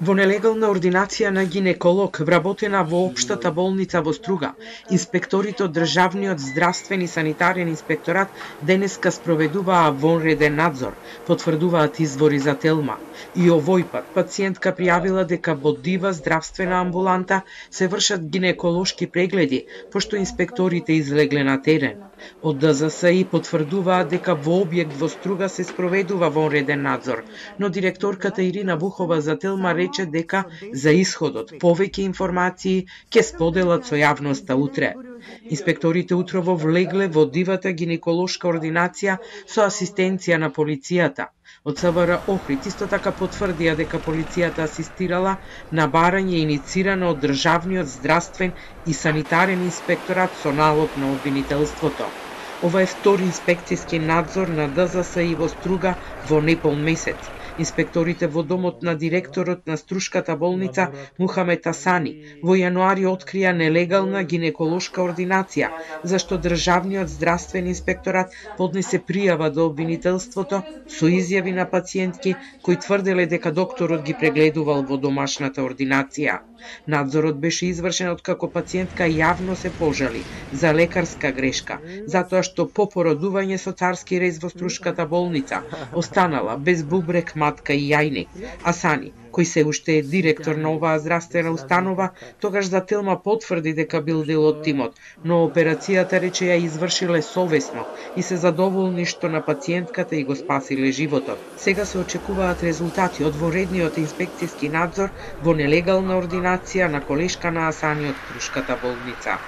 Во нелегална ординација на гинеколог, вработена во општата болница во Струга, инспекторите од Државниот здравствен и санитарен инспекторат денеска спроведуваа вонреден надзор, потврдуваат извори за Телма. И овој пат пациентка пријавила дека во Дива здравствена амбуланта се вршат гинеколошки прегледи, пошто инспекторите излегле на терен. Од ДЗСИ потврдуваат дека во објект во Струга се спроведува вонреден надзор, но директорката Ирина Вухова за Телма рече дека за исходот повеќе информации ќе споделат со јавноста утре. Инспекторите утрово влегле во Дивата гинеколошка ординација со асистенција на полицијата. Од СВР Охрид исто така потврдија дека полицијата асистирала на барање иницирано од Државниот здравствен и санитарен инспекторат со налог на обвинителството. Ова е втори инспекцијски надзор на ДЗСИ во Струга во непол месец. Инспекторите во домот на директорот на Струшката болница Мухамед Асани во јануари открија нелегална гинеколошка ординација, зашто Државниот здравствен инспекторат поднесе пријава до обвинителството со изјави на пациентки кои тврделе дека докторот ги прегледувал во домашната ординација. Надзорот беше извршен откако пациентка јавно се пожали за лекарска грешка, затоа што по породување со царски рез во Струшката болница останала без бубрек, матка и јајник. Асани, кој се уште е директор на оваа здравствена установа, тогаш за Телма потврди дека бил дел од тимот, но операцијата рече ја извршиле совесно и се задоволни што на пациентката и го спасиле животот. Сега се очекуваат резултати од вонредниот инспекцијски надзор во нелегална ординација на колешка на Асани од Струшката болница.